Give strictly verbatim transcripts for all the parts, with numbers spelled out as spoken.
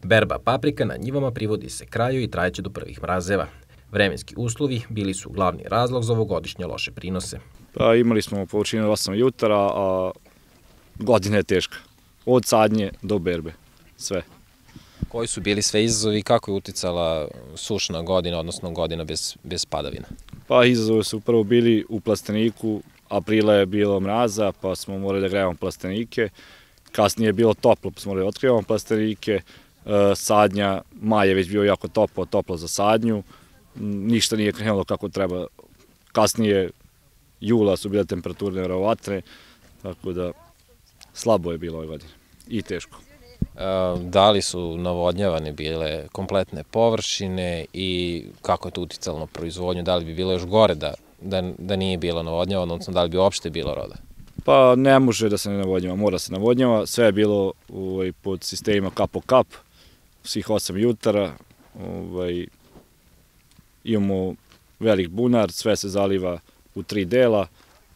Berba paprika na njivama privodi se kraju i trajeće do prvih mrazeva. Vremenski uslovi bili su glavni razlog za ovogodišnje loše prinose. Pa, imali smo površinu osam jutara, a godina je teška. Od sadnje do berbe, sve. Koji su bili sve izazovi i kako je uticala sušna godina, odnosno godina bez, bez padavina? Pa, izazovi su prvo bili u plasteniku, aprila je bilo mraza, pa smo morali da grejemo plastenike. Kasnije je bilo toplo, pa smo morali da otkrivamo plastenike. Sadnja, maj je već bio jako toplo, toplo za sadnju. Ništa nije krenulo kako treba. Kasnije, jula su bile temperature neverovatne, tako da slabo je bilo ove godine i teško. Da li su navodnjavane bile kompletne površine i kako je to uticalo na proizvodnju? Da li bi bilo još gore da, da, da nije bilo navodnjavano, odnosno da li bi uopšte bilo roda? Pa ne može da se ne navodnjava, mora se navodnjava. Sve je bilo ovaj, pod sistemima kap po kap, svih osam jutara. Ovaj, imamo velik bunar, sve se zaliva u tri dela,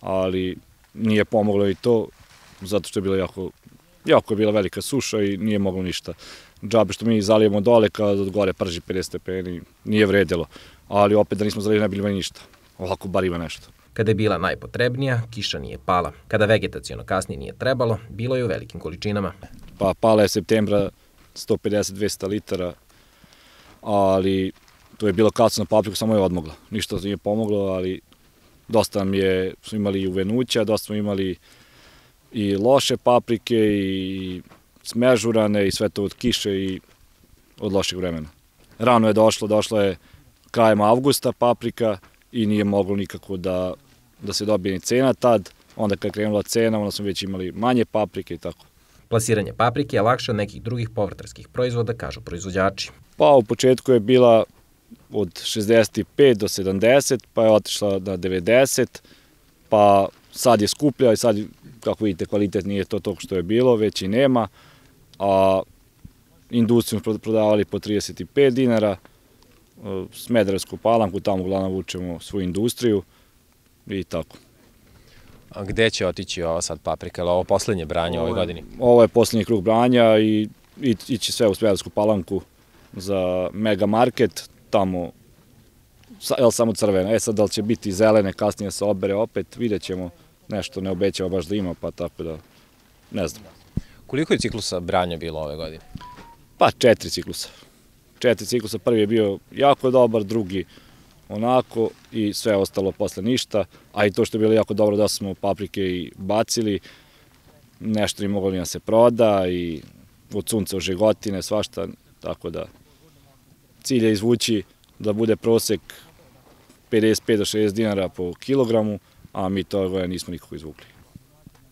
ali nije pomoglo i to, zato što je bilo jako, jako je bila velika suša i nije moglo ništa. Džabe što mi zalijemo dole, kad od gore prži pedeset stepeni, nije vredilo, ali opet da nismo zalili ne bilo ništa. Ovako bar ima nešto. Kada je bila najpotrebnija, kiša nije pala. Kada vegetaciono kasnije nije trebalo, bilo je u velikim količinama. Pa pala je septembra sto pedeset do dvesta litara, ali to je bilo kasno na papriku, samo je odmogla. Ništa nije pomoglo, ali dosta nam je, smo imali uvenuća, dosta smo imali i loše paprike i smežurane i sve to od kiše i od lošeg vremena. Rano je došlo, došla je krajem avgusta paprika i nije moglo nikako da, da se dobije ni cena tad. Onda kad je krenula cena, onda smo već imali manje paprike i tako. Plasiranje paprike je lakše od nekih drugih povrtarskih proizvoda, kažu proizvođači. Pa u početku je bila od šezdeset pet do sedamdeset, pa je otišla na devedeset, pa sad je skuplja i sad, kako vidite, kvalitet nije to tog što je bilo, već i nema, a industriju prodavali po trideset pet dinara, Smederevsku Palanku, tamo uglavnom vučemo svoju industriju i tako. A gde će otići ova sad paprika, ili ovo poslednje branje u ovoj godini? Ovo je poslednji krug branja i ići sve u Smederevsku Palanku za mega market, tamo je samo crvena. E sad, da li će biti zelene, kasnije se obere opet, vidjet ćemo, nešto ne obećava baš da ima, pa tako da ne znam. Koliko je ciklusa branja bilo ove godine? Pa četiri ciklusa. Četiri ciklusa, prvi je bio jako dobar, drugi onako i sve ostalo posle ništa, a i to što je bilo jako dobro da smo paprike i bacili, nešto nije moglo ni da se proda i od sunca u žegotine, svašta, tako da cilj je izvući da bude prosek pedeset pet do šezdeset dinara po kilogramu, a mi to nismo nikako izvukli.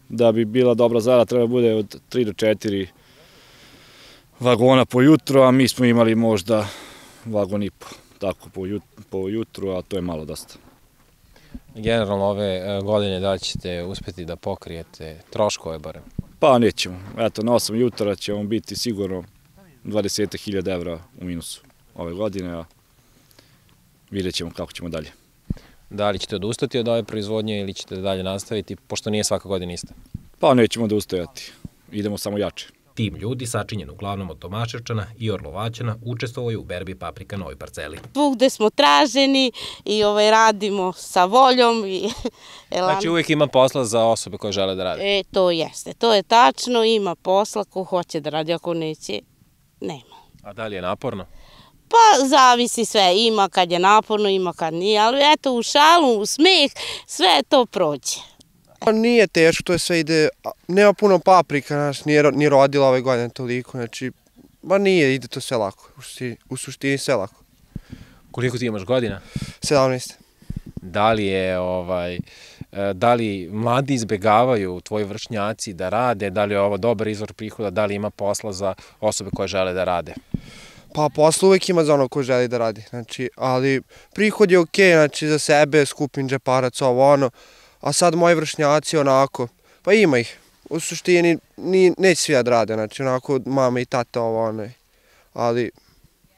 Da bi bila dobra zarada treba bude od tri do četiri vagona po jutru, a mi smo imali možda vagon i po, tako po jutru, a to je malo dosta. Generalno ove godine da li ćete uspeti da pokrijete troškove barem? Pa nećemo. Eto, na osam jutara ćemo biti sigurno dvadeset hiljada evra u minusu ove godine, a vidjet ćemo kako ćemo dalje. Da li ćete odustati od ove proizvodnje ili ćete dalje nastaviti, pošto nije svaka godina ista? Pa nećemo da ustajati. Idemo samo jače. Tim ljudi, sačinjen uglavnom od Tomaševčana i Orlovaćana, učestvovaju u berbi paprika na ovoj parceli. Svugde smo traženi i ovaj, radimo sa voljom. I, znači uvijek ima posla za osobe koje žele da rade? E, to jeste, to je tačno, ima posla ko hoće da radi, ako neće, nema. A da li je naporno? Pa zavisi sve, ima kad je naporno, ima kad nije, ali eto u šalu, u smeh, sve to prođe. Nije teško, to je sve ide, nema puno paprika, znaš, nije, nije rodila ove godine toliko, znači, ba nije, ide to sve lako, u suštini, u suštini sve lako. Koliko ti imaš godina? sedamnaest. Da li je, ovaj, da li mladi izbegavaju, tvoji vršnjaci da rade, da li je ovo dobar izvor prihoda, da li ima posla za osobe koje žele da rade? Pa posla uvek ima za ono ko želi da radi, znači, ali prihod je okej, znači, za sebe, skupim džeparac, ovo ono, a sad moji vršnjaci onako, pa ima ih, u suštini neće svi da rade, znači onako mama i tata ovo ono, ali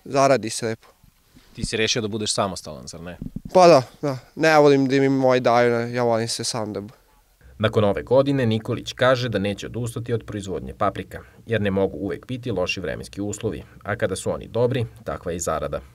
zaradi se lepo. Ti si rešio da budeš samostalan, zar ne? Pa da, da, ne volim da mi moji daju, ja volim se sam da bu. Nakon ove godine Nikolić kaže da neće odustati od proizvodnje paprika, jer ne mogu uvek biti loši vremenski uslovi, a kada su oni dobri, takva je i zarada.